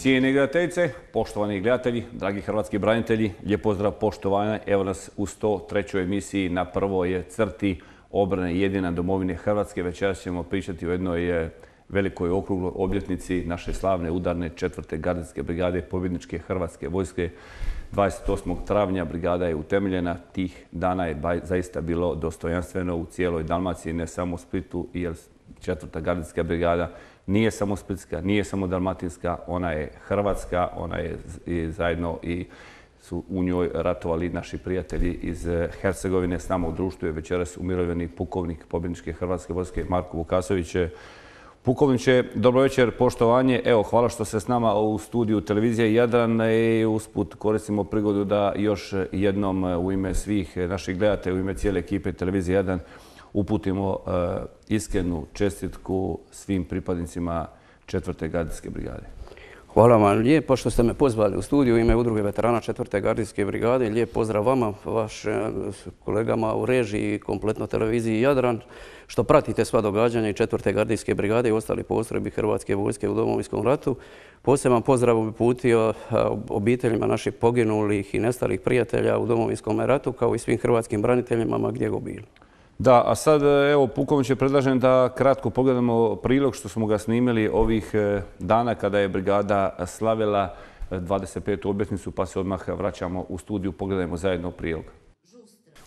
Cijene gledateljice, poštovani gledatelji, dragi hrvatski branitelji, lijep pozdrav, poštovanja. Evo nas u 103. emisiji na prvoj crti obrane jedina domovine Hrvatske. Večeras ćemo pričati o jednoj velikoj okrugloj obljetnici naše slavne udarne 4. gardijske brigade pobjedničke Hrvatske vojske. 28. travnja brigada je utemeljena. Tih dana je zaista bilo dostojanstveno u cijeloj Dalmaciji, ne samo u Splitu, jer 4. gardijska brigada nije samo splitska, nije samo dalmatinska, ona je hrvatska, ona je zajedno i su u njoj ratovali naši prijatelji iz Hercegovine. S nama u društvu je večeras umirovljeni pukovnik pobjedničke Hrvatske vojske Marko Vukasović. Pukovniče, dobro večer, poštovanje. Evo, hvala što ste s nama u studiju televizije Jadran i usput koristimo prigodu da još jednom u ime svih naših gledatelja, u ime cijele ekipe televizije Jadran uputimo iskrenu čestitku svim pripadnicima 4. gardijske brigade. Hvala vam lijepo što ste me pozvali u studiju u ime Udruge veterana 4. gardijske brigade. Lijep pozdrav vama, vašim kolegama u režiji i kompletno televiziji Jadran, što pratite sva događanja i 4. gardijske brigade i ostali postrojbi Hrvatske vojske u Domovinskom ratu. Poseban pozdrav bi uputio obiteljima naših poginulih i nestalih prijatelja u Domovinskom ratu, kao i svim hrvatskim braniteljima ma gdje go bili. Da, a sad, evo, pukovniče, predlažem da kratko pogledamo prilog što smo ga snimili ovih dana kada je brigada slavila 25. obljetnicu, pa se odmah vraćamo u studiju, pogledajmo zajedno prilog.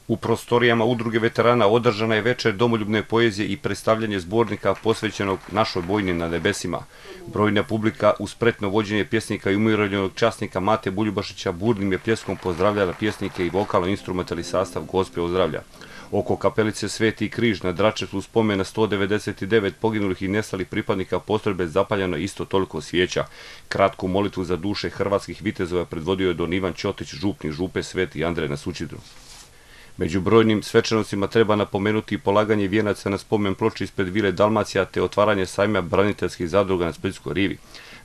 U prostorijama Udruge veterana održana je večer domoljubne poezije i predstavljanje zbornika posvećenog našoj vojni na nebesima. Brojna publika uz spretno vođenje pjesnika i umirovljenog časnika Mate Buljubašića burnim je pljeskom pozdravljala pjesnike i vokalno-instrumentalni sastav Gospe ozdravlja. Oko kapelice Sveti križ na Dračetu spomena 199 poginulih i nestalih pripadnika postrojbe zapaljeno isto toliko svijeća. Kratku molitvu za duše hrvatskih vitezova predvodio je don Ivan Ćotić, župnik župe Sveti Andrej na Sućidru. Među brojnim svečanostima treba napomenuti polaganje vijenaca na spomen ploči ispred Vile Dalmacija te otvaranje sajma braniteljskih zadruga na Splitskoj rivi.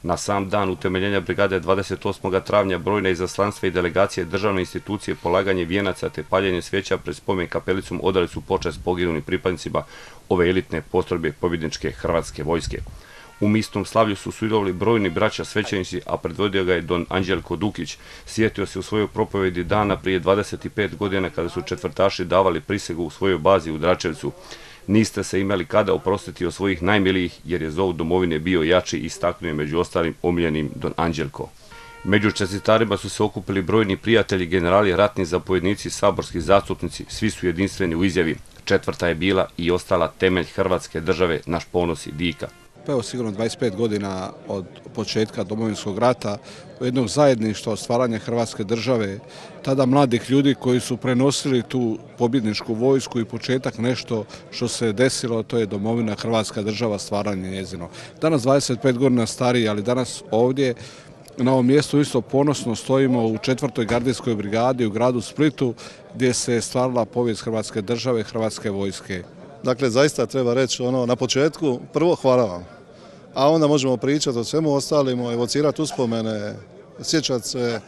Na sam dan utemeljenja brigade 28. travnja brojna izaslanstva i delegacije državne institucije polaganje vijenaca te paljenje svijeća pred spomen kapelicom odali su počast poginulim pripadnicima ove elitne postrojbe pobjedničke Hrvatske vojske. U mistom slavlju su sudjelovali brojni braća svećenici, a predvodio ga je don Anđelko Dukić. Sjetio se u svojoj propovedi dana prije 25 godina kada su četvrtaši davali prisegu u svojoj bazi u Dračevcu. Niste se imali kada oprostiti od svojih najmilijih jer je zov domovine bio jači, istaknuo je među ostalim omiljenim don Anđelko. Među čestitarima su se okupili brojni prijatelji, generali, ratni zapovjednici, saborski zastupnici. Svi su jedinstveni u izjavi. 4. je bila i ostala temelj Hrvatske države, naš ponos i dika. Evo sigurno 25 godina od početka Domovinskog rata, jednog zajedništva, stvaranja Hrvatske države, tada mladih ljudi koji su prenosili tu pobjedničku vojsku i početak nešto što se desilo, to je domovina Hrvatska država, stvaranje njezino. Danas 25 godina stariji, ali danas ovdje na ovom mjestu isto ponosno stojimo u 4. gardijskoj brigadi u gradu Splitu gdje se stvarala povijest Hrvatske države, Hrvatske vojske. Dakle, zaista treba reći na početku, prvo hvala vam, a onda možemo pričati o svemu ostalimo, evocirati uspomene, sjećati se,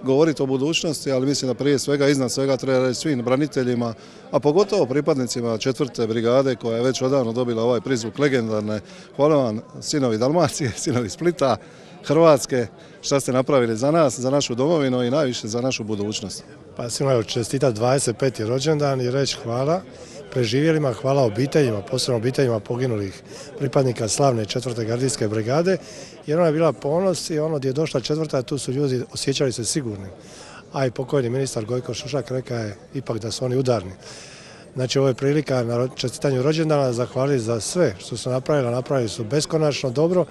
govoriti o budućnosti, ali mislim da prije svega, iznad svega treba reći svim braniteljima, a pogotovo pripadnicima 4. brigade koja je već odavno dobila ovaj prizvuk legendarne. Hvala vam, sinovi Dalmacije, sinovi Splita, Hrvatske, šta ste napravili za nas, za našu domovinu i najviše za našu budućnost. Pa svima čestitati 25. rođendan i reći hvala preživjelima, hvala obiteljima, posebno obiteljima poginulih pripadnika slavne 4. gardijske brigade, jer ona je bila ponos i ono gdje je došla 4. tu su ljudi osjećali se sigurni. A i pokojni ministar Gojko Šušak rekao je ipak da su oni udarni. Znači ovo je prilika na čestitanju rođendana, zahvaliti za sve što su napravili su beskonačno dobro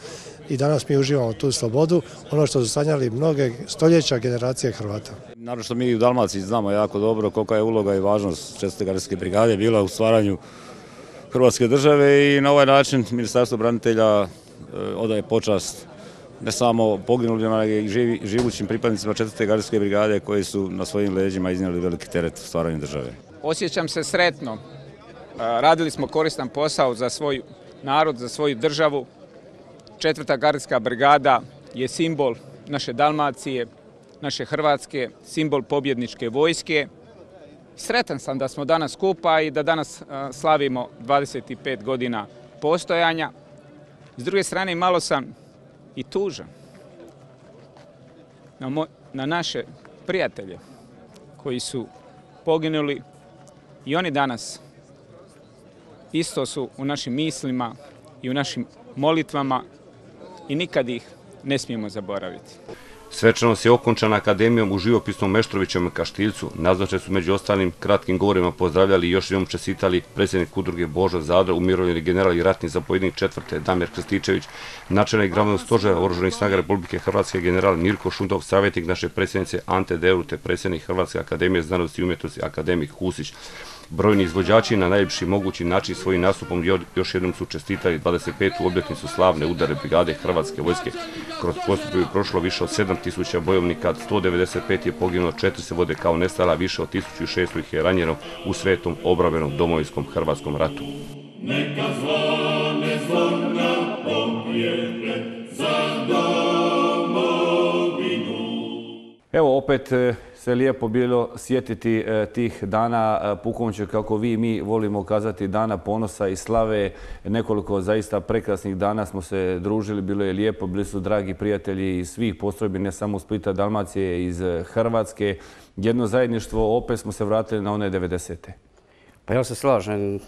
i danas mi uživamo tu slobodu, ono što su sanjali mnoge stoljeća generacije Hrvata. Naravno što mi u Dalmaciji znamo jako dobro kolika je uloga i važnost 4. gardijske brigade bila u stvaranju Hrvatske države i na ovaj način Ministarstvo branitelja odaje počast ne samo poginulima, nego i živućim pripadnicima 4. gardijske brigade koji su na svojim leđima iznijeli veliki teret u stvaranju države. Osjećam se sretno. Radili smo koristan posao za svoj narod, za svoju državu. 4. gardijska brigada je simbol naše Dalmacije, naše Hrvatske, simbol pobjedničke vojske. Sretan sam da smo danas skupa i da danas slavimo 25 godina postojanja. S druge strane, malo sam i tužan. na naše prijatelje koji su poginuli i oni danas isto su u našim mislima i u našim molitvama i nikad ih ne smijemo zaboraviti. Svečanost je okončana akademijom u živopisnom Meštrovićevom Kaštiljcu. Nazočni su među ostalim kratkim govorima pozdravljali i još jednom čestitali predsjednik udruge Božo Zadro, umirovljeni general i ratni zapovjednik 4. Damir Krstičević, načelnik Glavnog stožera Oružanih snaga Republike Hrvatske general Mirko Šundov, savjetnik naše predsjednice Ante Deur te predsjednik Hrvatske akademije znanosti i umjetnosti akademik Husić. Brojni izvođači na najljepši mogući način svojim nastupom još jednom su čestitali 25. obljetnicu slavne udarne brigade Hrvatske vojske. Kroz postupu je prošlo više od 7000 bojovnika, 195 je poginulo, 4 se vode kao nestala, više od 1600 ih je ranjeno u svetom obrambenom domovinskom Hrvatskom ratu. Neka zvone zvona pobjede za domovinu. Evo opet se lijepo bilo sjetiti tih dana, pukovniče, kako vi i mi volimo kazati, dana ponosa i slave. Nekoliko zaista prekrasnih dana smo se družili, bilo je lijepo, bili su dragi prijatelji iz svih postrojbi, ne samo Splita, Dalmacije, iz Hrvatske. Jedno zajedništvo, opet smo se vratili na one 90. Pa ja se slažem.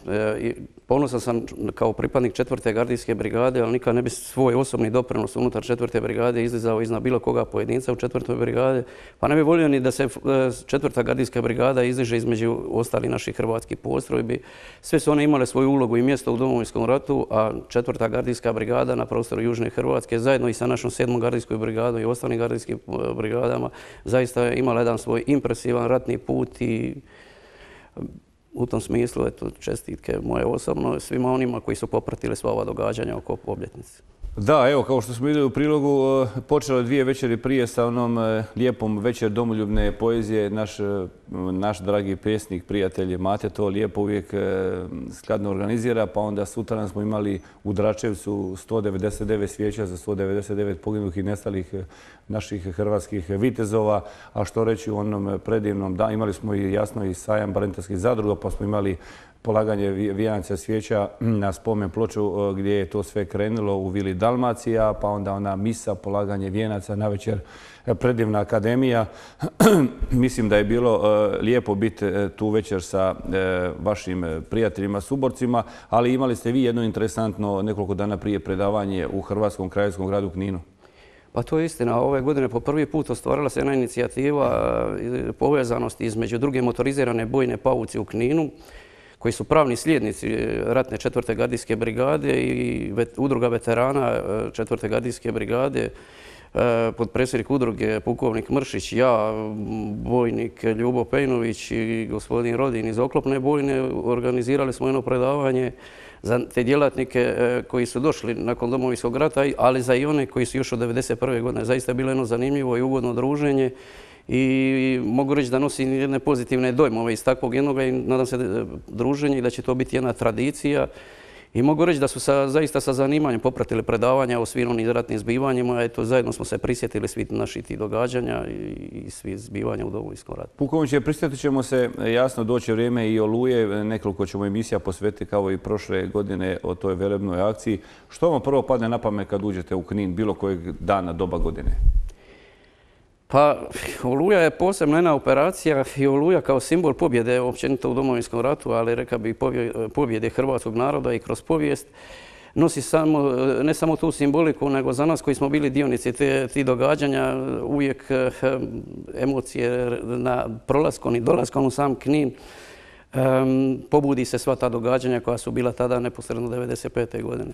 Ponosan sam kao pripadnik 4. gardijske brigade, ali nikad ne bi svoj osobni doprinos unutar 4. brigade izlizao iznad bilo koga pojedinca u 4. brigade. Pa ne bi volio ni da se 4. gardijska brigada izliže između ostalih naših hrvatskih postrojbi. Sve su one imale svoju ulogu i mjesto u Domovinskom ratu, a 4. gardijska brigada na prostoru Južne Hrvatske, zajedno i sa našom 7. gardijskom brigadom i ostalim gardijskim brigadama, zaista je imala jedan svoj impresivan ratni put i u tom smislu, eto, čestitke moje osobno svima onima koji su popratili sva ova događanja oko obljetnice. Da, evo, kao što smo vidjeli u prilogu, počelo je 2 večeri prije sa onom lijepom večer domoljubne poezije. Naš dragi pjesnik, prijatelj Mate to lijepo uvijek skladno organizira, pa onda sutra smo imali u Dračevcu 199 svijeća za 199 poginulih i nestalih naših hrvatskih vitezova, a što reći u onom predivnom danu, imali smo i jasno i sajam braniteljskih zadruga, pa smo imali polaganje vijenaca svijeća na spomen ploču gdje je to sve krenulo u Vili Dalmacija, pa onda ona misa, polaganje vijenaca, navečer predivna akademija. Mislim da je bilo lijepo biti tu večer sa vašim prijateljima, suborcima, ali imali ste vi jedno interesantno nekoliko dana prije predavanje u Hrvatskom kraljevskom gradu Kninu. Pa to je istina. Ove godine po prvi put ostvarila se jedna inicijativa povezanosti između druge motorizirane bojne pauci u Kninu, koji su pravni slijednici ratne 4. gardijske brigade i udruga veterana 4. gardijske brigade, potpredsjednik udruge pukovnik Mršić, ja, bojnik Ljubo Pejnović i gospodin Rodin iz oklopne bojne, organizirali smo jedno predavanje za te djelatnike koji su došli nakon Domovinskog rata, ali za i one koji su još od 1991. godine. Zaista je bilo jedno zanimljivo i ugodno druženje i mogu reći da nosim jedne pozitivne dojmove iz takvog jednoga i nadam se druženje i da će to biti jedna tradicija. I mogu reći da su zaista sa zanimanjem popratili predavanja o svim onim ratnim zbivanjima. Eto, zajedno smo se prisjetili svih naših tih događanja i svih zbivanja u Domovinskom ratu. Pukovniče, prisjetit ćemo se, jasno doći vrijeme i Oluje, nekoliko ćemo emisija posvetiti kao i prošle godine o toj velebnoj akciji. Što vam prvo padne na pamet kad uđete u Knin bilo kojeg dana, doba godine? Pa, Oluja je posebna jedna operacija i Oluja kao simbol pobjede općenito u Domovinskom ratu, ali rekao bih pobjede hrvatskog naroda i kroz povijest, nosi ne samo tu simboliku, nego za nas koji smo bili dionici tih događanja, uvijek emocije na prolaskom i dolaskom u sam Knin, pobudi se sva ta događanja koja su bila tada neposredno 1995. godine.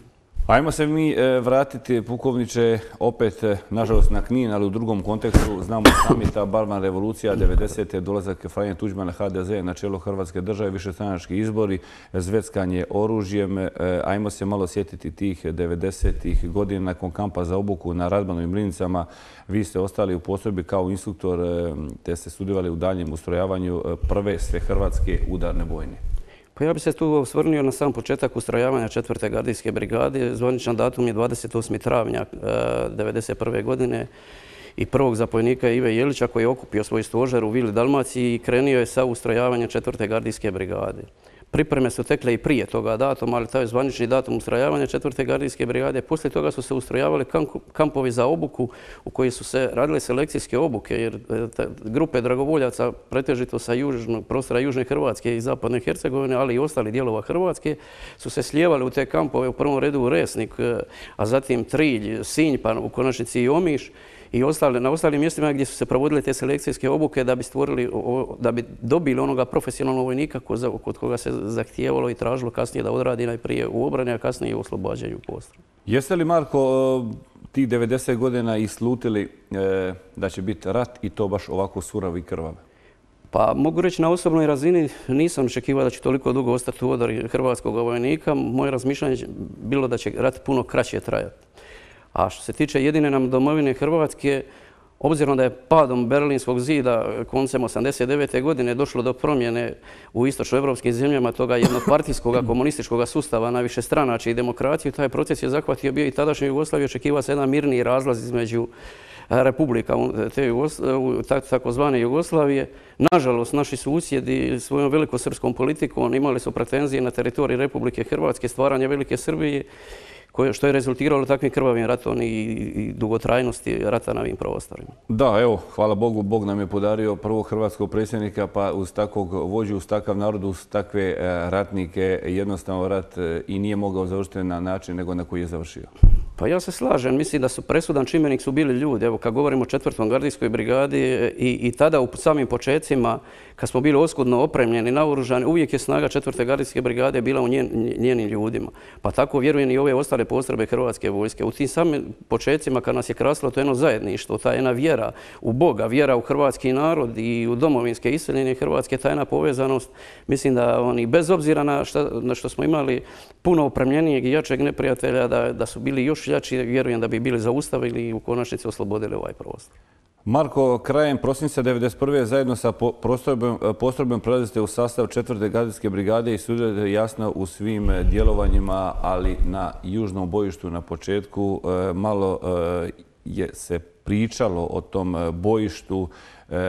Ajmo se mi vratiti, pukovniče, opet, nažalost, na Knin, ali u drugom kontekstu. Znamo sami ta barbarna revolucija 90. dolazak Franje Tuđmana HDZ na čelo Hrvatske države, višestranački izbori, zveckanje oružjem. Ajmo se malo sjetiti tih 90. godina nakon kampa za obuku na Radmanu i Mlinicama. Vi ste ostali u postrojbi kao instruktor, te ste sudjelovali u daljem ustrojavanju prve svehrvatske udarne bojne. Pa ja bih se tu osvrnio na sam početak ustrojavanja 4. gardijske brigade. Zvaničan datum je 28. travnja 1991. godine i prvog zapovjednika Ive Jelića koji je okupio svoj stožer u Vili Dalmaciji i krenuo je sa ustrojavanjem 4. gardijske brigade. Pripreme su tekle i prije toga datuma, ali taj je zvanični datum ustrojavanja 4. gardijske brigade. Poslije toga su se ustrojavali kampovi za obuku u koji su se radile selekcijske obuke, jer grupe dragovoljaca, pretežito sa prostora Južne Hrvatske i Zapadne Hercegovine, ali i ostalih dijelova Hrvatske, su se slijevali u te kampove, u prvom redu u Resnik, a zatim Trilj, Sinj, pa u konačnici i Omiš, i na ostalim mjestima gdje su se provodile te selekcijske obuke da bi dobili onoga profesionalnog vojnika kod koga se zahtijevalo i tražilo kasnije da odradi najprije u obrani, a kasnije i u oslobađanju postrojbi. Jeste li, Marko, tih 90 godina i slutili da će biti rat i to baš ovako surav i krvav? Pa mogu reći na osobnoj razini nisam očekivao da će toliko dugo ostati u odori hrvatskog vojnika. Moje razmišljanje je bilo da će rat puno kraće trajati. A što se tiče jedine nam domovine Hrvatske, obzirom da je padom Berlinskog zida koncem 1989. godine došlo do promjene u istočnoevropskim zemljama toga jednopartijskog komunističkog sustava na višestranačje i demokraciju, taj proces je zahvatio bio i tadašnju Jugoslaviju, očekivao se jedan mirniji razlaz između republika takozvane Jugoslavije. Nažalost, naši susjedi svojom velikosrpskom politikom imali su pretenzije na teritorij Republike Hrvatske, stvaranje Velike Srbije, što je rezultiralo takvim krvavim ratom i dugotrajnosti rata na ovim prostorima. Da, evo, hvala Bogu, Bog nam je podario prvog hrvatskog predsjednika, pa uz takvog vođu, uz takav narod, uz takve ratnike, jednostavno rat i nije mogao završiti na način nego na koji je završio. Pa ja se slažem, mislim da su presudan čimbenik su bili ljudi. Evo, kad govorimo o 4. gardijskoj brigadi i tada u samim početcima, kad smo bili oskudno opremljeni, naoružani, uvijek je snaga 4. gardijske brigade bila u njenim ljudima. Pa tako vjerujem i ove ostale postrojbe Hrvatske vojske. U tim samim početcima kad nas je krasilo to jedno zajedništvo, ta jedna vjera u Boga, vjera u hrvatski narod i u domovinske iseljene Hrvatske, ta jedna povezanost, mislim da oni bez obzira na što smo imali puno opremljenijeg i jačeg neprijatelja, da su bili još jači, vjerujem da bi bili zaustavili i u konačnici oslobodili ovaj prostor. Marko, krajem prosinca 1991. zajedno sa postrojbom prelazite u sastav 4. gardijske brigade i sudjelujete jasno u svim djelovanjima, ali na južnom bojištu na početku malo je se pričalo o tom bojištu,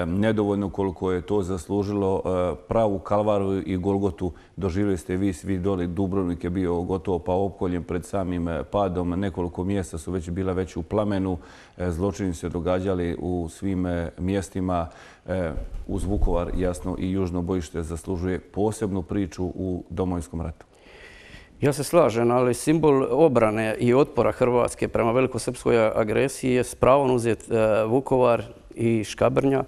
nedovoljno koliko je to zaslužilo. Pravu kalvariju i Golgotu doživjeli ste vi svi doli. Dubrovnik je bio gotovo pa opkoljen pred samim padom. Nekoliko mjesta su bila već u plamenu. Zločini se događali u svim mjestima. Uz Vukovar, jasno, i južno bojište zaslužuje posebnu priču u Domovinskom ratu. Ja se slažem, ali simbol obrane i otpora Hrvatske prema velikosrpskoj agresiji je s pravom uzet Vukovar i Škabrnja.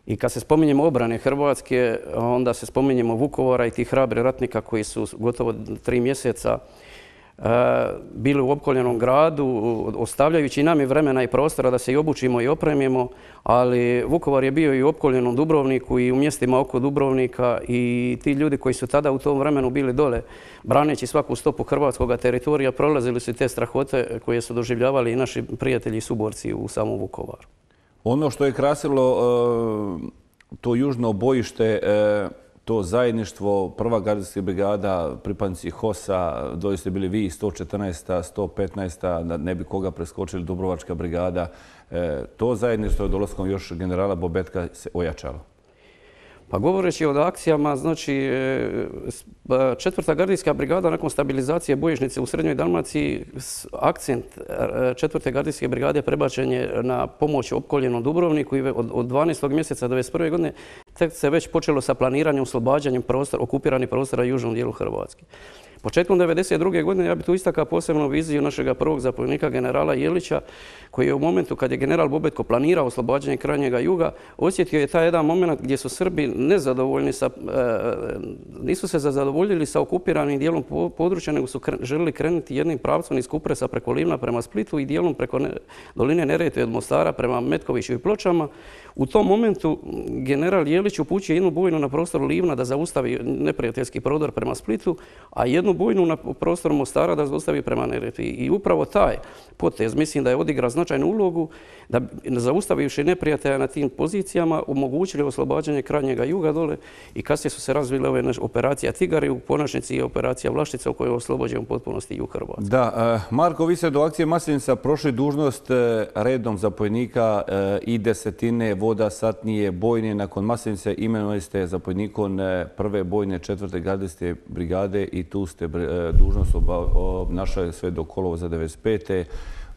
I kad se spominjemo obrane Hrvatske, onda se spominjemo Vukovara i tih hrabri ratnika koji su gotovo 3 mjeseca bili u opkoljenom gradu, ostavljajući nam i vremena i prostora da se i obučimo i opremimo, ali Vukovar je bio i u opkoljenom Dubrovniku i u mjestima oko Dubrovnika i ti ljudi koji su tada u tom vremenu bili dole, braneći svaku stopu hrvatskog teritorija, prolazili su te strahote koje su doživljavali i naši prijatelji i suborci u samom Vukovaru. Ono što je krasilo to južno bojište, to zajedništvo, prva gardijska brigada, pripadnici HOS-a, dođe ste bili vi 114. 115. da ne bi koga preskočili, Dubrovačka brigada. To zajedništvo je dolaskom još generala Bobetka se ojačalo. Pa govoreći o akcijama, znači 4. gardijska brigada nakon stabilizacije bojišnice u Srednjoj Dalmaciji, akcent 4. gardijske brigade prebačen je na pomoć opkoljenom Dubrovniku i od 12. mjeseca 1991. godine tek se već počelo sa planiranjem oslobađanjem okupiranih prostora u južnom dijelu Hrvatske. Početkom 1992. godine ja bih tu istakao posebnu viziju našeg prvog zapovjednika generala Jelića, koji je u momentu kad je general Bobetko planirao oslobađanje krajnjega juga, osjetio je taj jedan moment gdje su Srbi nezadovoljni nisu se zadovoljili sa okupiranim dijelom područja, nego su želili krenuti jednim pravcom iz Kupresa preko Livna prema Splitu i dijelom preko doline Neretve od Mostara prema Metkoviću i Pločama. U tom momentu general Jelić upućuje jednu bojnu na prostor Livna da zaustavi neprijateljski prodor prema Splitu, a jednu bojnu na prostor Mostara da zaustavi prema Neretvi. I upravo taj potez mislim da je odigrao značajnu ulogu da zaustavivši neprijatelja na tim pozicijama omogućili oslobađanje krajnjega juga dole i kasnije su se razvile ove operacija Tigar i u konačnici i operacija Vlaštica u kojoj je oslobođen u potpunosti jug Hrvatske. Da, Marko, vi ste do akcije Maslenica prošli dužnost redom zapovjednika i desetine, voda, satnije, bojne. Nakon Maslenice imenovali ste zapovjednikom prve bojne 4. gardijske brigade i tu ste dužnost obnašali sve do kolovoza 95.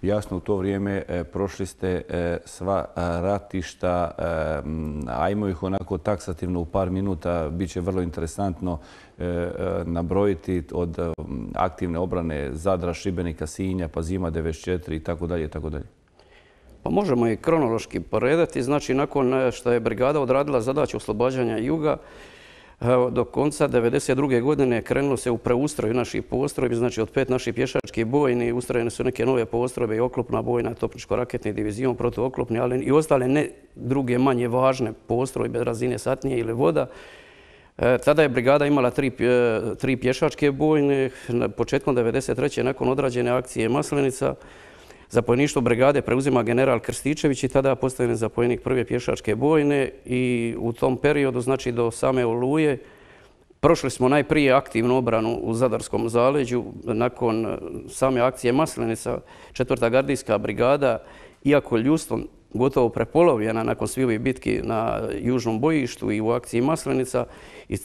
Jasno, u to vrijeme prošli ste sva ratišta, ajmo ih onako taksativno u par minuta, bit će vrlo interesantno nabrojiti od aktivne obrane Zadra, Šibenika, Sinja, pa zima 94 i tako dalje i tako dalje. Pa možemo i kronološki poredati. Znači, nakon što je brigada odradila zadaću oslobađanja juga, do konca 1992. godine krenulo se u preustroj naših postrojbi, znači od 5 naših pješačkih bojni ustrojene su neke nove postrojbe i oklopna bojna, topničko-raketni divizion, protuoklopni, ali i ostale ne druge manje važne postrojbe razine satnije ili voda. Tada je brigada imala tri pješačke bojne. Početkom 1993. nakon odrađene akcije Maslenica, zapovjedništvo brigade preuzima general Krstičević i tada postavljen zapovjednik prve pješačke bojne i u tom periodu, znači do same Oluje, prošli smo najprije aktivnu obranu u Zadarskom zaleđu. Nakon same akcije Maslenica, 4. gardijska brigada, iako ljudstvom gotovo prepolovljena nakon svih ovih bitki na južnom bojištu i u akciji Maslenica,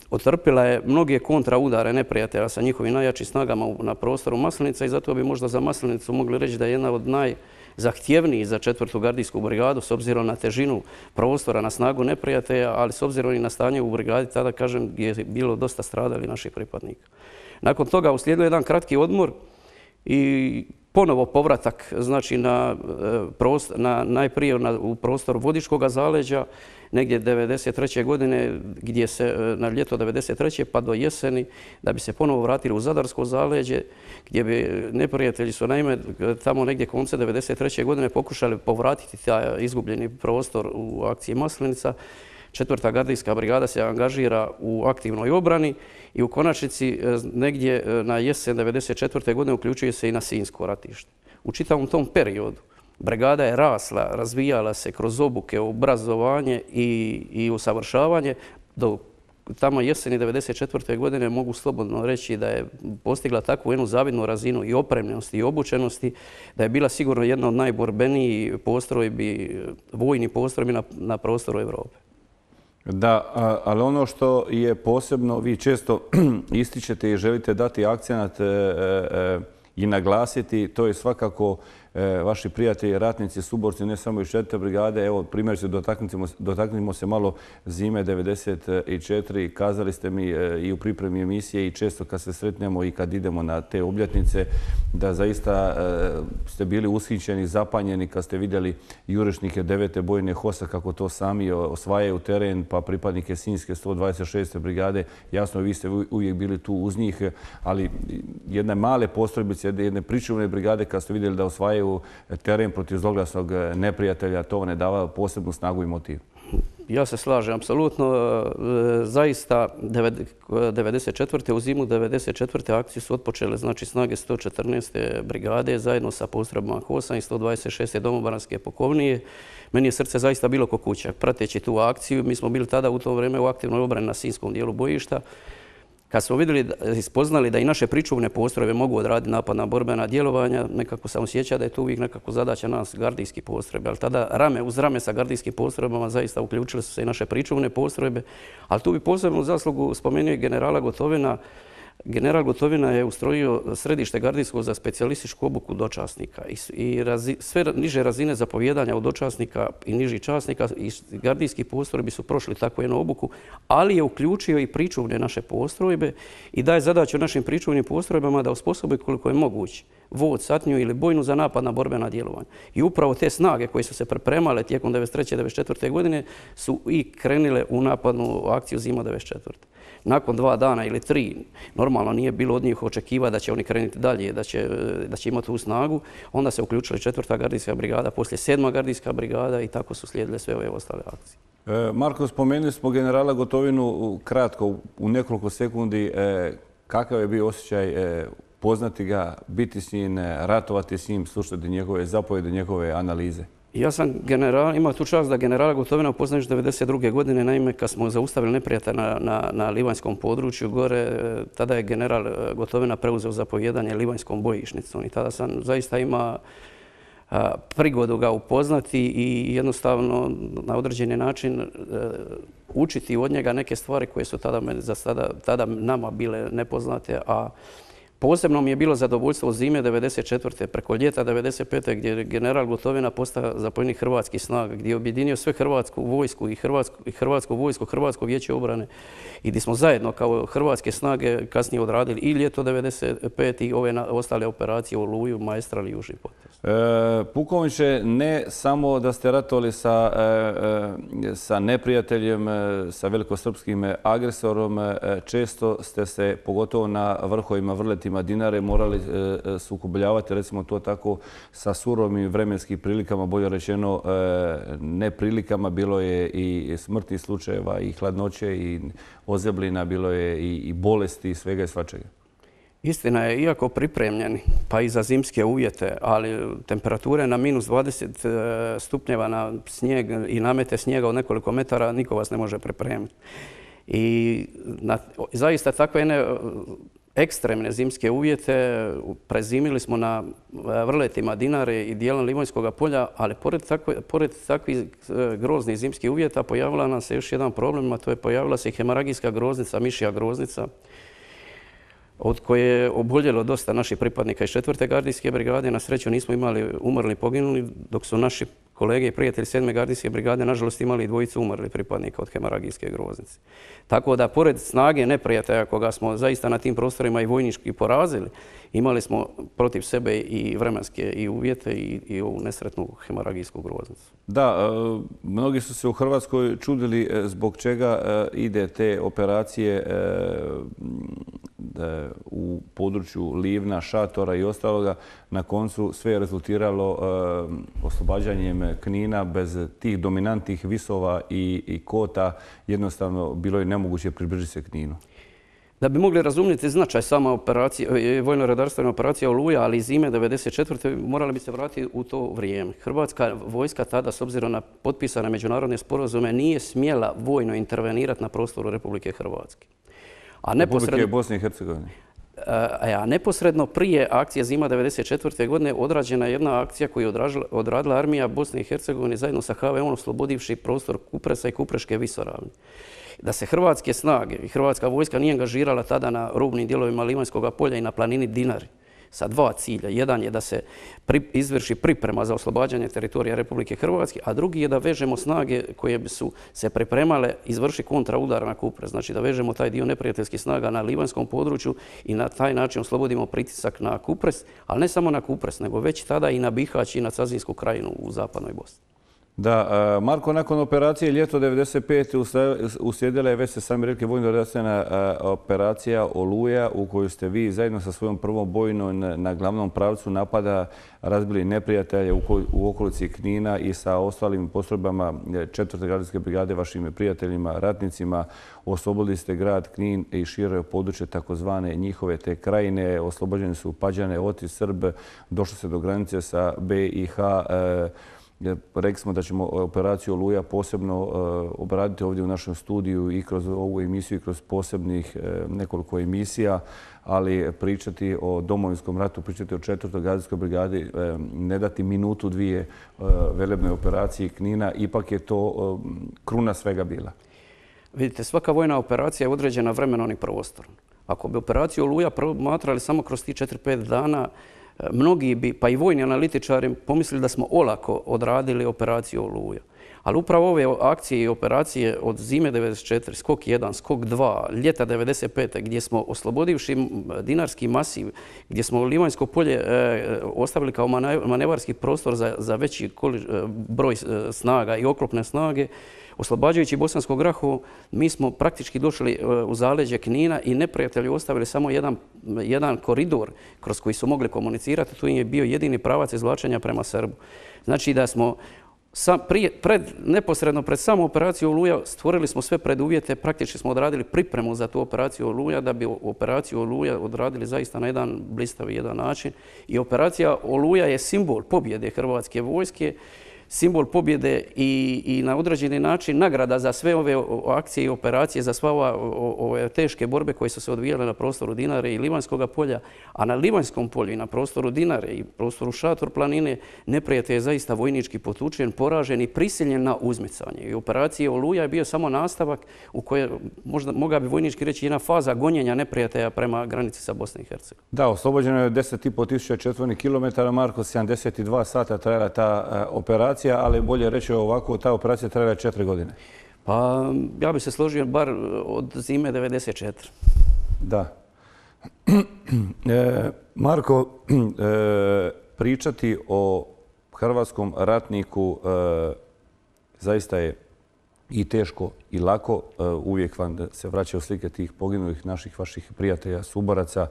otrpila je mnoge kontraudare neprijatelja sa njihovim najjačim snagama na prostoru Maslenica i zato bi možda za Maslenicu mogli reći da je jedna od najzahtjevnijih za 4. gardijsku brigadu s obzirom na težinu prostora, na snagu neprijatelja, ali s obzirom i na stanje u brigadi, tada kažem je bilo dosta stradali naših pripadnika. Nakon toga uslijedio jedan kratki odmor i ponovo povratak, znači najprije u prostor Vodičkog zaleđa, negdje 1993. godine, gdje se na ljeto 1993. pa do jeseni, da bi se ponovo vratili u Zadarsko zaleđe, gdje bi neprijatelji su naime tamo negdje konce 1993. godine pokušali povratiti taj izgubljeni prostor u akciji Maslenica. 4. gardijska brigada se angažira u aktivnoj obrani i u konačnici negdje na jesen 1994. godine uključuje se i na Sinjsko ratište. U čitavom tom periodu brigada je rasla, razvijala se kroz obuke, obrazovanje i usavršavanje. Do tamo jeseni 1994. godine mogu slobodno reći da je postigla takvu jednu zavidnu razinu i opremljenosti i obučenosti, da je bila sigurno jedna od najborbenijih postrojbi, vojnih postrojbi na prostoru Europe. Da, ali ono što je posebno, vi često ističete i želite dati akcenat i naglasiti, to je svakako vaši prijatelji, ratnici, suborci, ne samo iz 4. brigade. Evo, primjer, dotaknimo se malo zime 94. Kazali ste mi i u pripremi emisije i često kad se sretnemo i kad idemo na te obljetnice, da zaista ste bili ushićeni, zapanjeni kad ste vidjeli jurišnike 9. bojne HOS-a kako to sami osvajaju teren, pa pripadnike Sinjske 126. brigade. Jasno, vi ste uvijek bili tu uz njih, ali jedne male postrojbice, jedne pričuvne brigade kad ste vidjeli da osvajaju teren protiv zloglasnog neprijatelja, to ne dava posebnu snagu i motiv. Ja se slažem, apsolutno. Zaista, 1994. u zimu 1994. akciju su otpočele znači snage 114. brigade zajedno sa postrojbama HOS-a i 126. domobranske pukovnije. Meni je srce zaista bilo ko kuća. Prateći tu akciju, mi smo bili tada u to vrijeme u aktivnoj obrani na Sinjskom dijelu bojišta. Kad smo vidjeli i spoznali da i naše pričuvne postrojbe mogu odraditi napadna borbena djelovanja, nekako sam osjećao da je to uvijek nekako zadaća nas gardijskih postrojbe. Ali tada rame uz rame sa gardijskim postrojbama zaista uključile su se i naše pričuvne postrojbe. Ali tu bi posebnu zaslugu spomenuo i generala Gotovina. General Gotovina je ustrojio središte gardijsko za specijalističku obuku dočasnika i sve niže razine zapovjedanja od dočasnika i nižih časnika i gardijskih postrojbi su prošli takvu jednu obuku, ali je uključio i pričuvne naše postrojbe i daje zadaću našim pričuvnim postrojbama da osposobe koliko je moguće vod, satniju ili bojnu za napadna borbena djelovanja. I upravo te snage koje su se pripremale tijekom 1993. i 1994. godine su i krenile u napadnu akciju zima 1994. Nakon 2 dana ili 3, normalno nije bilo od njih očekiva da će oni krenuti dalje, da će imati tu snagu. Onda se uključila 4. gardijska brigada, poslije 7. gardijska brigada i tako su slijedile sve ove ostale akcije. Marko, spomenuli smo generala Gotovinu kratko, u nekoliko sekundi. Kakav je bio osjećaj poznati ga, biti s njim, ratovati s njim, slušati njegove zapovjede, njegove analize? Ja sam imao tu čast da generala Gotovina upoznaš 1992. godine, naime kad smo zaustavili neprijatelja na Livanjskom području gore, tada je general Gotovina preuzeo zapovjedanje Livanjskom bojišnicom i tada sam zaista imao prigodu ga upoznati i jednostavno na određeni način učiti od njega neke stvari koje su tada nama bile nepoznate, a posebno mi je bilo zadovoljstvo od zime 1994. preko ljeta 1995. gdje je general Gotovina postao zapovjednik hrvatskih snaga, gdje je objedinio sve hrvatsku vojsku i hrvatsku vojsku, Hrvatsko vijeće obrane i gdje smo zajedno kao hrvatske snage kasnije odradili i ljeto 1995. i ove ostale operacije u Oluju, Maestral i Južni potes. Pukovniče, ne samo da ste ratovali sa neprijateljem, sa velikosrpskim agresorom, često ste se, pogotovo na vrhovima, vrletima Dinare, morali sukobljavati, recimo to tako, sa surovim vremenskim prilikama, bolje rečeno neprilikama. Bilo je i smrtnih slučajeva, i hladnoće, i ozeblina, bilo je i bolesti, i svega i svačega. Istina je, iako pripremljeni, pa i za zimske uvjete, ali temperature na -20 stupnjeva na snijeg i namete snijega od nekoliko metara, niko vas ne može pripremiti. I zaista takve jedne ekstremne zimske uvjete prezimili smo na vrletima Dinare i dijelom Livanjskog polja, ali pored takvih groznih zimskih uvjeta pojavila nam se još jedan problem, a to je pojavila se i hemaragijska groznica, mišja groznica, od koje je oboljelo dosta naših pripadnika iz 4. gardijske brigade. Na sreću nismo imali umrli poginuli, dok su naši kolege i prijatelji 7. gardijske brigade nažalost imali dvojicu umrli pripadnika od hemaragijske groznice. Tako da pored snage neprijatelja koga smo zaista na tim prostorima i vojnički porazili, imali smo protiv sebe i vremenske i uvjete i ovu nesretnu hemaragijsku groznicu. Da, mnogi su se u Hrvatskoj čudili zbog čega ide te operacije u području Livna, Šatora i ostaloga. Na koncu sve je rezultiralo oslobađanjem Knina. Bez tih dominantnih visova i kota jednostavno bilo je nemoguće približiti se Kninu. Da bi mogli razumjeti značaj sama vojno-redarstvena operacija Oluja, ali i zime 1994. morali bi se vratiti u to vrijeme. Hrvatska vojska tada, s obzirom na potpisane međunarodne sporazume, nije smjela vojno intervenirati na prostoru Republike Hrvatske. Republike Bosne i Hercegovine. A neposredno prije akcije zima 1994. godine odrađena je jedna akcija koju je odradila armija Bosne i Hercegovine zajedno sa HVO-om, oslobodivši prostor Kupresa i Kupreške visoravni. Da se hrvatske snage i hrvatska vojska nije angažirala tada na rubnim dijelovima Livanjskog polja i na planini Dinari sa dva cilja. Jedan je da se izvrši priprema za oslobađanje teritorija Republike Hrvatske, a drugi je da vežemo snage koje bi su se pripremale izvrši kontraudar na Kupres. Znači da vežemo taj dio neprijateljskih snaga na livanjskom području i na taj način oslobodimo pritisak na Kupres, ali ne samo na Kupres, nego već tada i na Bihać i na Cazinsku krajinu u zapadnoj Bosni. Da, Marko, nakon operacije ljeto 1995. uslijedila je, već ste sami rekli, vojno-redarstvena operacija Oluja, u kojoj ste vi zajedno sa svojom prvom bojnom na glavnom pravcu napada razbili neprijatelje u okolici Knina i sa ostalim postrojbama 4. gardijske brigade, vašim prijateljima, ratnicima. Oslobodili ste grad Knin i šire područje takozvane njihove te krajine. Oslobođeni su Pađane, Otis, Srb. Došlo se do granice sa BiH. Rekli smo da ćemo operaciju Oluja posebno obraditi ovdje u našem studiju i kroz ovu emisiju i kroz posebnih nekoliko emisija, ali pričati o Domovinskom ratu, pričati o 4. gardijskoj brigadi, ne dati minutu, dvije velebnoj operaciji Knina, ipak je to kruna svega bila. Vidite, svaka vojna operacija je određena vremenom i prostorom. Ako bi operaciju Oluja promatrali samo kroz tih 4-5 dana, mnogi bi, pa i vojni analitičari, pomislili da smo olako odradili operaciju Oluja. Ali upravo ove akcije i operacije od zime 1994, skok 1, skok 2, ljeta 1995. gdje smo oslobodivši dinarski masiv, gdje smo Livanjsko polje ostavili kao manevarski prostor za veći broj snaga i oklopne snage, oslobađajući Bosansko Grahovo, mi smo praktički došli u zaleđe Knina i neprijatelji ostavili samo jedan koridor kroz koji su mogli komunicirati. Tu im je bio jedini pravac izvlačenja prema Srbu. Znači da smo neposredno pred samu operaciju Oluja stvorili smo sve preduvjete, praktički smo odradili pripremu za tu operaciju Oluja da bi operaciju Oluja odradili zaista na jedan blistavi jedan način. I operacija Oluja je simbol pobjede Hrvatske vojske, simbol pobjede i na određeni način nagrada za sve ove akcije i operacije, za sva ove teške borbe koje su se odvijale na prostoru Dinare i Livanjskog polja, a na Livanjskom polju i na prostoru Dinare i prostoru Šator planine neprijatelj je zaista vojnički potučen, poražen i prisiljen na uzmicanje. I operacija Oluja je bio samo nastavak u kojoj mogla bi vojnički reći jedna faza gonjenja neprijatelja prema granici sa Bosne i Hercegovine. Da, oslobođeno je 10.500 četvornih kilometara, Marko, 72 sata trajala ta operacija, ali bolje reći ovako, ta operacija trajala 4 godine. Pa ja bih se složio bar od zime 94. Da. Marko, pričati o hrvatskom ratniku zaista je i teško i lako. Uvijek vam se vraćaju slike tih poginulih naših vaših prijatelja, suboraca.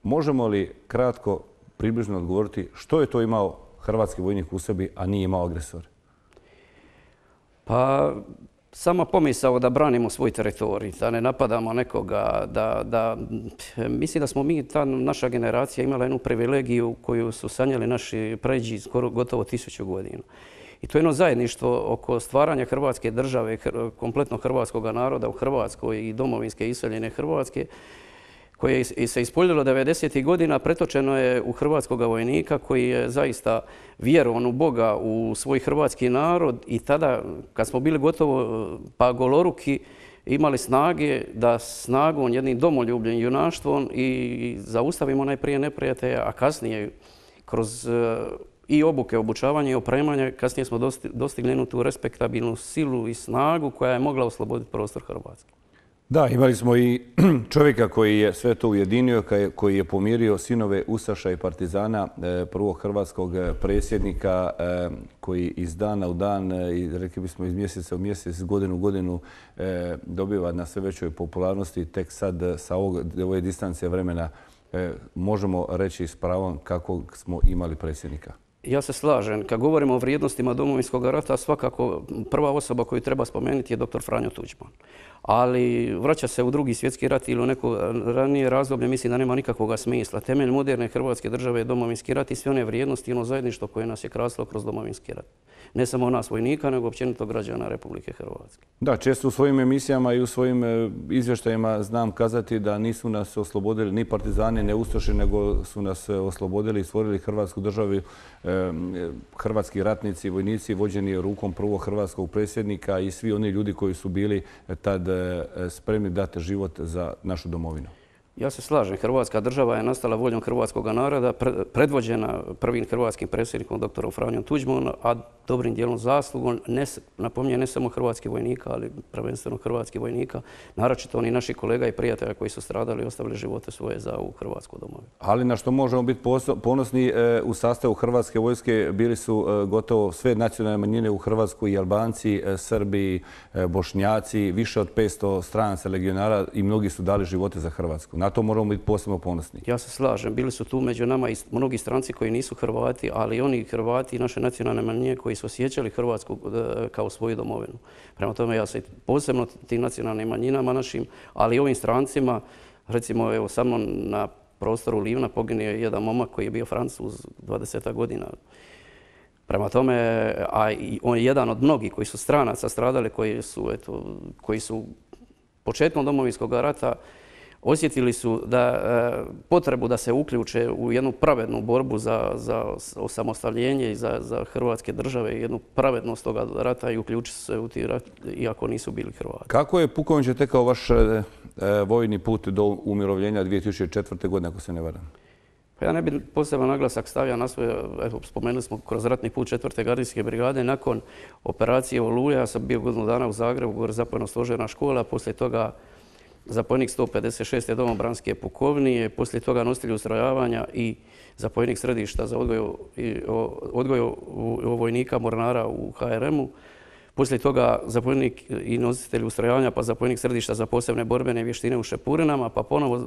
Možemo li kratko, približno odgovoriti što je to imao hrvatski vojnik u sebi, a nije imao agresor? Pa sama pomisao da branimo svoj teritorij, da ne napadamo nekoga, mislim da smo mi, ta naša generacija imala jednu privilegiju koju su sanjali naši pređi skoro gotovo 1000 godina. I to je jedno zajedništvo oko stvaranja Hrvatske države, kompletno hrvatskog naroda u Hrvatskoj i domovinske iseljene Hrvatske, koje se ispoljilo 90. godina, pretočeno je u hrvatskog vojnika koji je zaista vjerovan u Boga, u svoj hrvatski narod i tada, kad smo bili gotovo pa goloruki, imali snage da snagom, jednim domoljubljem, junaštvom i zaustavimo najprije neprijatelja, a kasnije kroz i obuke, obučavanje i opremanje, kasnije smo dostigli jednu tu respektabilnu silu i snagu koja je mogla osloboditi prostor Hrvatske. Da, imali smo i čovjeka koji je sve to ujedinio, koji je pomirio sinove ustaša i partizana, prvog hrvatskog predsjednika koji iz dana u dan, i rekli bismo iz mjeseca u mjesec, godinu u godinu dobiva na sve većoj popularnosti. Tek sad sa ove distance vremena možemo reći s pravom kako smo imali predsjednika. Ja se slažem. Kad govorimo o vrijednostima Domovinskog rata, svakako prva osoba koju treba spomenuti je dr. Franjo Tuđman. Ali vraća se u Drugi svjetski rat ili u neko ranije razdoblje, mislim da nema nikakvog smisla. Temelj moderne Hrvatske države je Domovinski rat i sve one vrijednosti i ono zajedništvo koje nas je krasilo kroz Domovinski rat. Ne samo nas vojnika, nego općenito građana Republike Hrvatske. Da, često u svojim emisijama i u svojim izvještajima znam kazati da nisu nas oslobodili ni partizani, ni ustaše, nego su nas oslobodili i stvorili Hrvatsku državu hrvatski ratnici, vojnici vođeni rukom prvog hrvatskog predsjednika i svi oni ljudi koji su bili tad spremni dati život za našu domovinu. Ja se slažem. Hrvatska država je nastala voljom hrvatskog naroda, predvođena prvim hrvatskim predsjednikom dr. Franjom Tuđmanom, a dobrim dijelom zaslugom, napominjem, ne samo hrvatskih vojnika, ali prvenstveno hrvatskih vojnika, naročito oni naši kolega i prijatelja koji su stradali i ostavili živote svoje za ovu Hrvatsku domovinu. Ali na što možemo biti ponosni, u sastavu Hrvatske vojske bili su gotovo sve nacionalne manjine u Hrvatskoj, i Albanci, Srbi, Bošnjaci, više od 500 stranaca legionara i mnogi su dali živote za Hrvatsku. Na to moramo biti posebno ponosni. Ja se slažem. Bili su tu među nama i mnogi stranci koji nisu Hrvati, ali oni Hrvati i naše nacionalne manjine koji su osjećali Hrvatsku kao svoju domovinu. Prema tome ja se posebno tim nacionalnim manjinama našim, ali i ovim strancima, recimo evo sa mnom na prostoru Livna poginuo je jedan momak koji je bio Francuz 20 godina. Prema tome, a on je jedan od mnogih koji su stranaca stradali, koji su početkom Domovinskog rata osjetili su potrebu da se uključe u jednu pravednu borbu za osamostaljenje i za Hrvatske države i jednu pravednost toga rata i uključiti se u ti rat, iako nisu bili Hrvati. Kako je pukovniče tekao vaš vojni put do umirovljenja 2004. godine, ako se ne varam? Pa ja ne bih poseban naglasak stavio na svoje, spomenuli smo kroz ratni put 4. gardijske brigade. Nakon operacije Oluja, ja sam bio godinu dana u Zagrebu, gore zapovjedno-stožerna škola, poslije toga zapovjednik 156. domobranske pukovnije, poslije toga nositelj ustrojavanja i zapovjednik središta za odgoj vojnika mornara u HRM-u. Poslije toga zapovjednik i nositelj ustrojavanja, pa zapovjednik središta za posebne borbene vještine u Šepurinama, pa ponovo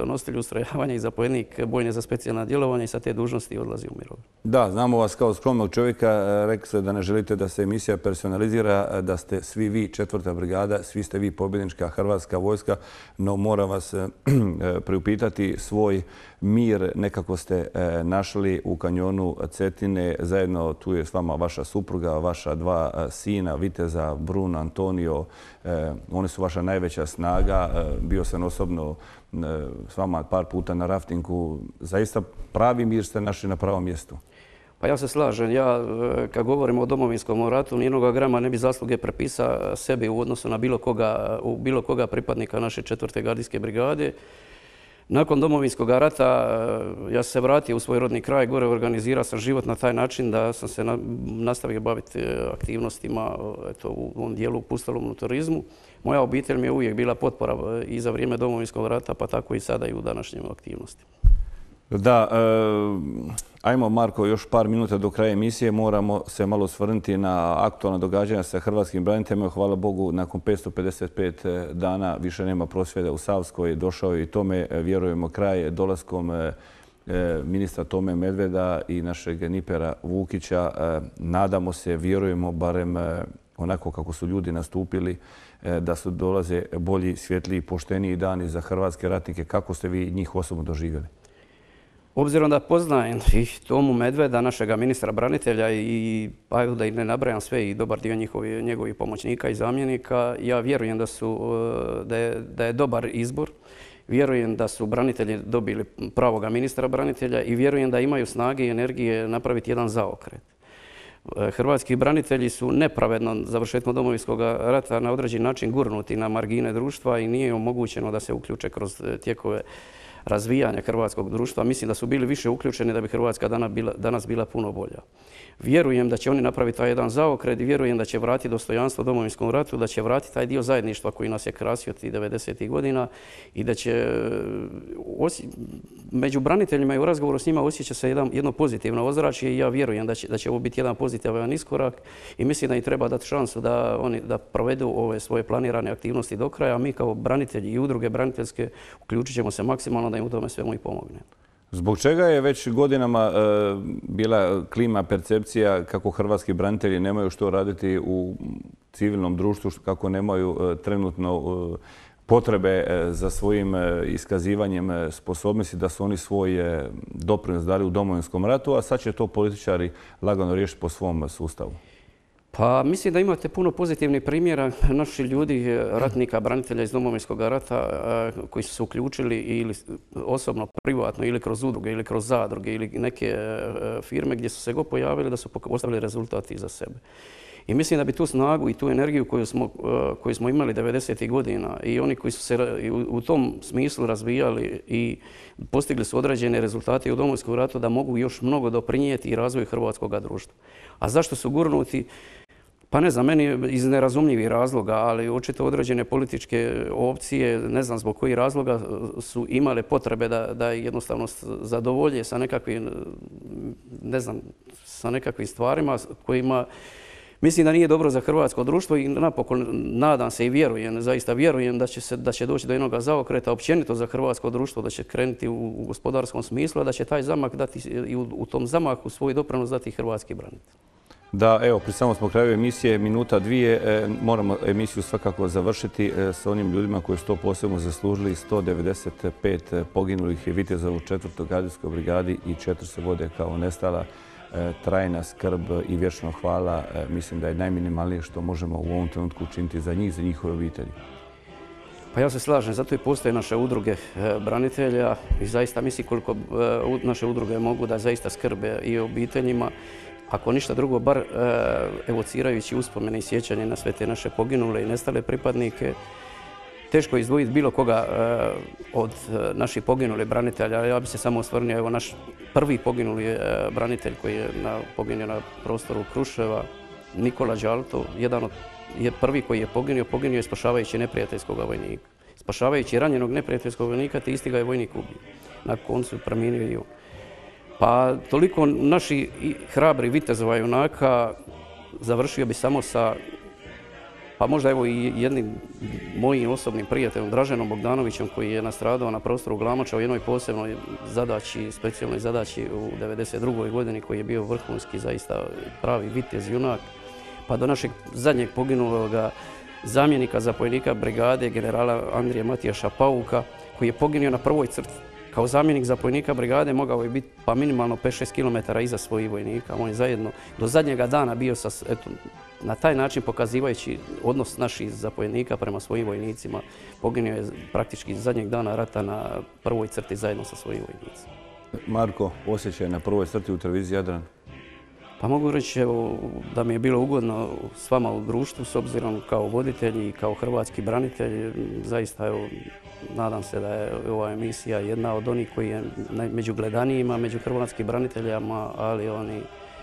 nositelj ustrojavanja i zapovjednik bojne za specijalna djelovanja i sa te dužnosti odlazi u mirovinu. Da, znamo vas kao skromnog čovjeka. Rekli ste da ne želite da se emisija personalizira, da ste svi vi 4. brigada, svi ste vi pobjednička Hrvatska vojska, no moram vas priupitati svoj mir nekako ste našli u kanjonu Cetine. Zajedno tu je s vama vaša supruga, vaša 2 sina, viteza Bruno, Antonio. Oni su vaša najveća snaga. Bio sam osobno s vama par puta na raftingu. Zaista pravi mir ste našli na pravom mjestu. Pa ja se slažem. Ja, kad govorimo o Domovinskom ratu, nijednoga grama ne bi zasluge prepisao sebi u odnosu na bilo koga pripadnika naše 4. gardijske brigade. Nakon Domovinskog rata ja sam se vratio u svoj rodni kraj, gore organizirao sam život na taj način da sam se nastavio baviti aktivnostima u ovom dijelu u pustolovnom turizmu. Moja obitelj mi je uvijek bila potpora i za vrijeme Domovinskog rata, pa tako i sada i u današnjim aktivnostima. Da, ajmo Marko, još par minuta do kraja emisije. Moramo se malo osvrnuti na aktualna događanja sa hrvatskim braniteljima. Hvala Bogu, nakon 555 dana više nema prosvjeda u Savskoj. Došao je i tome, vjerujemo, kraj dolaskom ministra Tome Medveda i našeg Nipera Vukića. Nadamo se, vjerujemo, barem onako kako su ljudi nastupili, da su dolaze bolji, svjetliji, pošteniji dani za hrvatske ratnike. Kako ste vi njih osobno doživjeli? Obzirom da poznajem i Tomu Medveda, našega ministra branitelja i pa da i ne nabrajam sve i dobar dio njegovih pomoćnika i zamjenika, ja vjerujem da je dobar izbor. Vjerujem da su branitelji dobili pravoga ministra branitelja i vjerujem da imaju snage i energije napraviti jedan zaokret. Hrvatski branitelji su nepravedno završetkom Domovinskog rata na određen način gurnuti na margine društva i nije omogućeno da se uključe kroz tijekove razvijanja hrvatskog društva. Mislim da su bili više uključeni da bi Hrvatska danas bila puno bolja. Vjerujem da će oni napraviti taj jedan zaokret i vjerujem da će vratiti dostojanstvo Domovinskom ratu, da će vratiti taj dio zajedništva koji nas je krasio tih 90. godina i da će među braniteljima i u razgovoru s njima osjeća se jedno pozitivno ozračje i ja vjerujem da će ovo biti jedan pozitivan iskorak i mislim da im treba dati šansu da provedu ove svoje planirane aktivnosti do kraja, a mi kao branitelji i udruge braniteljske uključit ćemo se maksimalno da im u tome svemu i pomognemo. Zbog čega je već godinama bila klima, percepcija kako hrvatski branitelji nemaju što raditi u civilnom društvu, kako nemaju trenutno potrebe za svojim iskazivanjem sposobnosti, da su oni svoj doprinos dali u Domovinskom ratu, a sad će to političari lagano riješiti po svom sustavu? Pa mislim da imate puno pozitivnih primjera. Naši ljudi, ratnika, branitelja iz Domovinskog rata koji su se uključili ili osobno, privatno ili kroz udruge ili kroz zadruge ili neke firme gdje su se god pojavili da su ostavili rezultati za sebe. I mislim da bi tu snagu i tu energiju koju smo imali 90. godina i oni koji su se u tom smislu razvijali i postigli su određene rezultate u Domovinskom ratu da mogu još mnogo doprinijeti i razvoju hrvatskog društva. A zašto su gurnuti? Pa ne znam, meni iz nerazumljivih razloga, ali očito određene političke opcije, ne znam zbog kojih razloga, su imale potrebe da jednostavno zadovolje sa nekakvim, ne znam, sa nekakvim stvarima kojima mislim da nije dobro za hrvatsko društvo i napokon nadam se i vjerujem, zaista vjerujem da će doći do jednog zaokreta općenito za hrvatsko društvo, da će krenuti u gospodarskom smislu, a da će taj zamah dati i u tom zamahu svoj doprinos dati hrvatski branitelj. Da, evo, pri samom smo kraju emisije, minuta, dvije. Moramo emisiju svakako završiti s onim ljudima koji su to posebno zaslužili. 195 poginulih viteza u 4. gardijskoj brigadi i 4 se vode kao nestala. Trajna skrb i vječno hvala. Mislim da je najminimalnije što možemo u ovom trenutku učiniti za njih, za njihove obitelji. Pa ja se slažem, zato i postoje naše udruge branitelja i zaista mislim koliko naše udruge mogu da zaista skrbe i o obiteljima. Ako ništa drugo, bar evocirajući uspomene i sjećanje na sve te naše poginule i nestale pripadnike, teško je izdvojiti bilo koga od naših poginulih branitelja. Ja bih se samo osvrnuo, evo naš prvi poginuli branitelj koji je poginuo na prostoru Kruševa, Nikola Đalto, jedan od prvi koji je poginuo je spašavajući neprijateljskog vojnika. Spašavajući ranjenog neprijateljskog vojnika, te isti ga je vojnik ubio. Na koncu preminuo i on. Pa toliko naši hrabri vitezova junaka završio bi samo sa Pa možda evo i jednim mojim osobnim prijateljom Draženom Bogdanovićem koji je nastradao na prostoru Glamoča u jednoj posebnoj zadaći, specijalnoj zadaći u 1992. godini, koji je bio vrhunski, zaista pravi vitez, junak, pa do našeg zadnjeg poginuloga zamjenika zapovjednika brigade generala Andrije Matijaša Pauka, koji je poginuo na prvoj crti. Kao zamjenik zapovjednika brigade mogao je biti pa minimalno 5-6 km iza svojih vojnika. On je zajedno do zadnjega dana bio na taj način pokazivajući odnos naših zapovjednika prema svojim vojnicima. Poginuo je praktički zadnjeg dana rata na prvoj crti zajedno sa svojim vojnicima. Marko, osjećaj na prvoj crti u televiziji Jadran? Pa mogu reći da mi je bilo ugodno s vama u društvu, s obzirom kao voditelj i kao hrvatski branitelj. Zaista, nadam se da je ova emisija jedna od onih koji je među gledanijima, među hrvatskim braniteljama, ali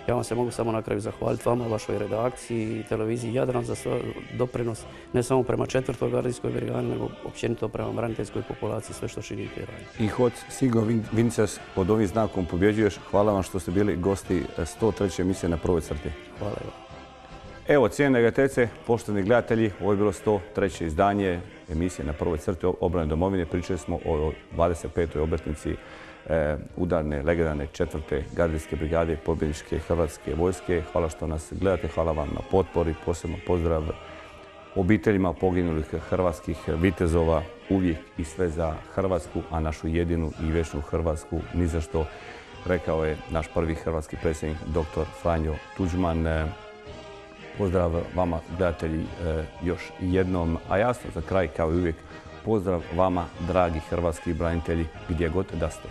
ja vam se mogu samo na kraju zahvaliti vama, vašoj redakciji i televiziji Jadran za svoj doprinos, ne samo prema 4. gardijskoj brigadi, nego općenito prema braniteljskoj populaciji, sve što činite i radite. I hod Sigo Vinces, pod ovim znakom pobjeđuješ. Hvala vam što ste bili gosti 103. emisije na prvoj crti. Hvala vam. Evo, cijene gledateljice, poštovani gledatelji, ovo je bilo 103. izdanje emisije na prvoj crti obrane domovine. Pričali smo o 25. obljetnici udarne, legendarne 4. gardijske brigade pobjedničke hrvatske vojske. Hvala što nas gledate, hvala vam na potpori, posebno pozdrav obiteljima poginulih hrvatskih vitezova, uvijek i sve za Hrvatsku, a našu jedinu i vječnu Hrvatsku ni za što, rekao je naš prvi hrvatski predsjednik dr. Franjo Tuđman. Pozdrav vama gledatelji još jednom, a jasno za kraj kao i uvijek pozdrav vama dragi hrvatski branitelji gdje god da ste.